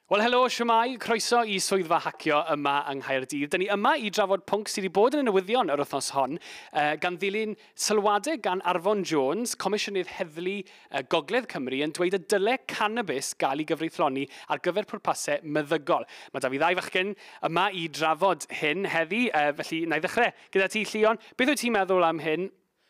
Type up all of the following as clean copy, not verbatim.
Wel, helo, shwmae, croeso i swyddfa Hacio yma yng Nghaerdydd. Dyn ni yma i drafod pwnc sydd wedi bod yn y newyddion yr wythnos hon, gan ddilyn sylwadau gan Arfon Jones, Comisiynydd Heddlu Gogledd Cymru, yn dweud y dyle cannabis gael ei gyfreithloni ar gyfer pwrpasau meddygol. Mae 'da fi ddau fachgen yma i drafod hyn heddi, felly na i ddechrau gyda ti, Llion. Beth wyt ti'n meddwl am hyn?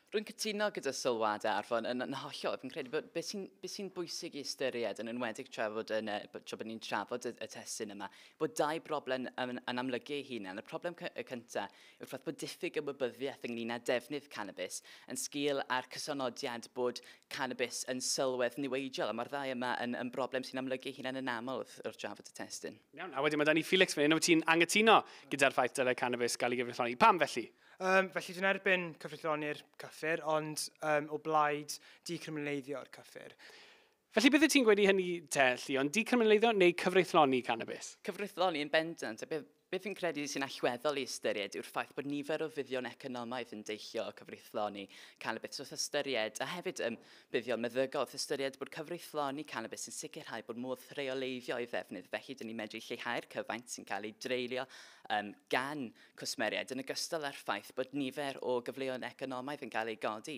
Rwy'n cytuno gyda sylwadau Arfon yn hollol. Fi'n credu bod beth sy'n bwysig i ystyried, yn enwedig tra bod ni'n trafod y testun yma, bod dau broblem yn amlygu ei hunan. Y problem y cyntaf yw'r ffaith bod diffyg ymwybyddiaeth ynglyn â defnydd cannabis yn sgil a'r cysonodiad bod cannabis yn sylwedd niweidiol. A mae'r ddau yma yn broblem sy'n amlygu ei hunan yn aml wrth drafod y testun. Iawn, a wedyn mae 'da ni Felix fan hyn, wyt ti'n angytuno gyda'r ffaith dylai cannabis gael ei gyfreithloni? Pam felly? Felly dwi'n erbyn cyfreithloni'r cyffur, ond o blaid decriminaleiddio'r cyffur. Felly beth wyt ti'n gweud i hynny te, Llion? Decriminaleiddio neu cyfreithloni cannabis? Cyfreithloni yn bendant. A beth fi'n credu sy'n allweddol i ystyried yw'r ffaith bod nifer o fuddion economaidd yn deillio o cyfreithloni cannabis. Wrth ystyried, a hefyd buddion meddygol, wrth ystyried bod cyfreithloni cannabis yn sicrhau bod modd rheoleiddio ei ddefnydd. Felly, dyn ni'n medru lleihau'r cyfaint sy'n cael ei dreulio gan cwsmeriaid, yn ogystal â'r ffaith bod nifer o gyfleoedd economaidd yn cael ei godi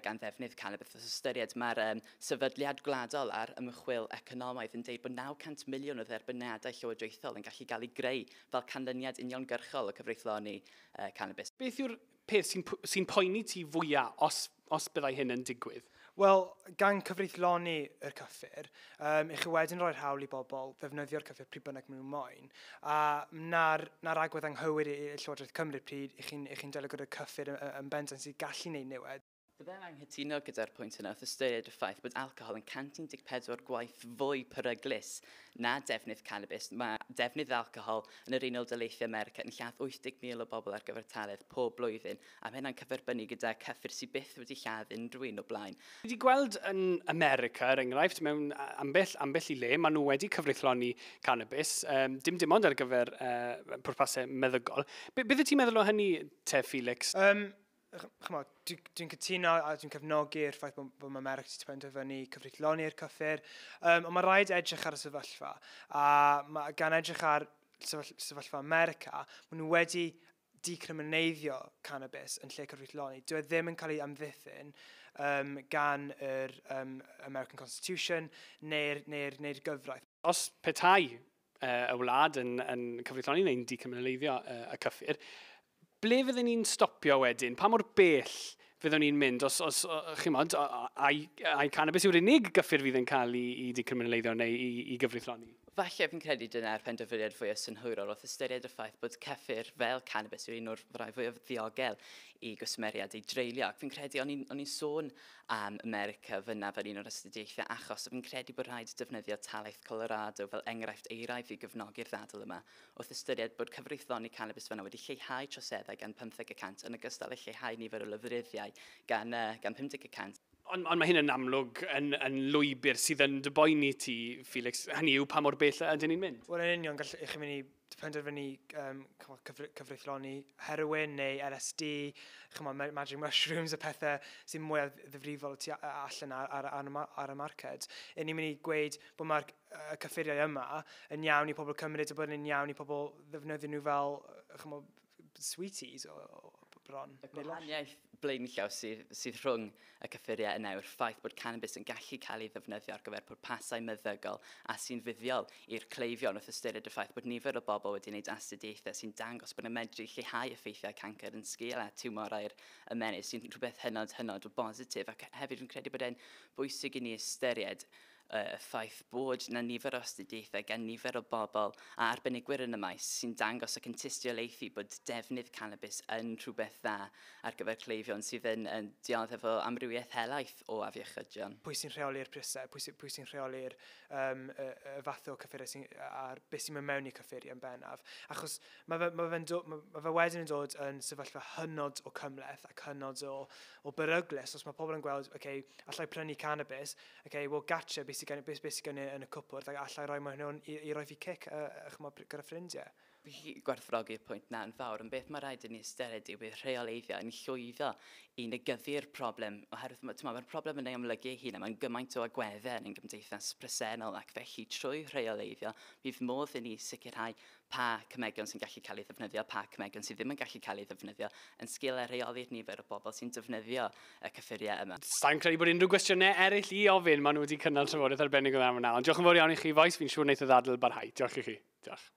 gan ddefnydd cannabis. Wrth ystyried, mae'r Sefydliad Gwladol ar Ymchwil Economaidd yn deud bod 900 miliwn o dderbyniadau llywodraethol yn gallu gael ei greu fel canlyniad uniongyrchol o cyfreithloni cannabis. Beth yw'r peth sy'n poeni ti fwyaf os byddai hyn yn digwydd? Wel, gan cyfreithloni yr cyffur, i chi wedyn roi'r hawl i bobl ddefnyddio'r cyffur pryd bynnag maen nhw moyn. A 'na'r agwedd anghywir i Llywodraeth Cymru pryd i chi'n delio gyda'r cyffur yn bendant sy'n gallu gwneud niwed. Byddai'n anghytuno gyda'r pwynt yna wrth ystyried y ffaith bod alcohol yn 114 gwaith fwy peryglus na defnydd cannabis. Mae defnydd alcohol yn yr Unol Daleithiau America yn lladd 80,000 o bobl ar gyfartaledd pob blwyddyn, a mae hynna'n cyferbynnu gyda cyffur sydd byth wedi lladd unrhyw un o blaen. Wedi gweld yn America, er enghraifft, mewn ambell i le, maen nhw wedi cyfreithloni cannabis, dim ond ar gyfer pwrpasau meddygol. Beth wyt ti'n meddwl o hynny te, Felix? Ch'mod, dwi cytuno a dwi'n cefnogi'r ffaith bod mae America wedi penderfynu cyfreithloni'r cyffur, ond mae rhaid edrych ar y sefyllfa. A gan edrych ar sefyllfa America, maen nhw wedi decrimineiddio cannabis yn lle cyfreithloni. Dyw e ddim yn cael ei amddiffyn gan yr American Constitution neu'r gyfraith. Os petai y wlad yn cyfreithloni neu'n decriminaleiddio y cyffur, ble fyddwn ni'n stopio wedyn? Pa mor bell fyddwn ni'n mynd os chi'mod, ai cannabis yw'r unig gyffur fydd yn cael ei decriminaleiddio neu i gyfreithloni? Falle fi'n credu dyna'r penderfyniad fwyaf synhwyrol wrth ystyried y ffaith bod cyffur fel cannabis yw'r un o'r rhai fwyaf ddiogel i gwsmeriaid ei dreulio. Ac fi'n credu, o'n i'n sôn am America fyna fel un o'r astudiaethau achos, a fi'n credu bod rhaid defnyddio talaith Colorado fel enghraifft euraidd i gefnogi'r ddadl yma, wrth ystyried bod cyfreithloni cannabis fyna wedi lleihau troseddau gan 15% yn ogystal â lleihau nifer o lofruddiau gan 50%. Ond mae hyn yn amlwg yn lwybr sydd yn dy boeni ti, Felix. Hynny yw pa mor bell ydyn ni'n mynd? Wel, yn union, gall i chi mynd i penderfynu ch'mod, cyfreithloni heroin neu LSD, ch'mod, magic mushrooms, y pethau sy'n mwy ddifrifol tu allan ar y marced. I ni'n mynd i gweud bod mae'r cyffuriau yma yn iawn i pobl cymryd a bod yn iawn i pobl ddefnyddio nhw fel, ch'mod, sweeties o bron. Y gwahaniaeth blaenllaw sydd rhwng y cyffuriau yna yw'r ffaith bod cannabis yn gallu cael ei ddefnyddio ar gyfer pwrpasau meddygol a sy'n fuddiol i'r cleifion, wrth ystyried y ffaith bod nifer o bobl wedi gwneud astudiaethau sy'n dangos bod yn medru lleihau effeithiau cancr yn sgil a tiwmorau'r ymennydd, sy'n rhywbeth hynod, hynod o bositif. Ac hefyd fi'n credu bod e'n bwysig i ni ystyried y ffaith bod na nifer o astudiaethau gan nifer o bobl a arbenigwyr yn y maes sy'n dangos ac yn tystiolaethu bod defnydd cannabis yn rhywbeth dda ar gyfer cleifion sydd yn dioddef o amrywiaeth helaeth o afiechydion. Pwy sy'n rheoli'r prisau, pwy sy'n rheoli'r y fath o cyffuriau sy'n, a'r beth sy'n mynd mewn i cyffuriau yn bennaf? Achos ma fe wedyn yn dod yn sefyllfa hynod o cymhleth ac hynod o beryglus. Os mae pobl yn gweld, okay, allai prynu cannabis, okay, well, gotcha, beth sy'n gen i yn y cwpwrdd, ac allai roi mewn hwn i roi fi cic, ch'mod, gyda ffrindiau. Fi'n gwerthfawrogi'r pwynt 'na yn fawr, ond beth mae rhaid i ni ystyried yw bydd rheoleiddio yn llwyddo i negyddu'r problem, oherwydd mae'r problem yn ei amlygu ei hun a mae'n gymaint o agweddau yn ein gymdeithas presennol, ac felly trwy rheoleiddio bydd modd i ni sicrhau pa cemegion sy'n gallu cael ei ddefnyddio, pa cemegion sydd ddim yn gallu cael ei ddefnyddio, yn sgil a rheoli'r nifer o bobl sy'n defnyddio y cyffuriau yma. Sa'n credu bod unrhyw gwestiynau eraill i ofyn, maen nhw wedi cynnal trafodaeth arbennig o dda yna. Ond diolch yn fawr iawn i chi, bois, fi'n siŵr wneith y ddadl barhau. Diolch i chi. Diolch.